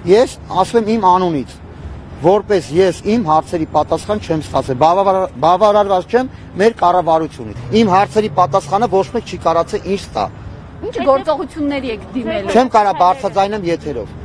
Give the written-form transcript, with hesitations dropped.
Ես ասում եմ իմ անունից, որպես ես իմ հարցերի պատասխան չեմ ստացել, բավարարված չեմ մեր կառավարությունից։ Իմ հարցերի պատասխանը ոչ մեկ չի կարողացել ինձ տա։ Ինչ գործողությունների եք դիմել։ Չեմ կարող բարձրաձայնեմ եթերով։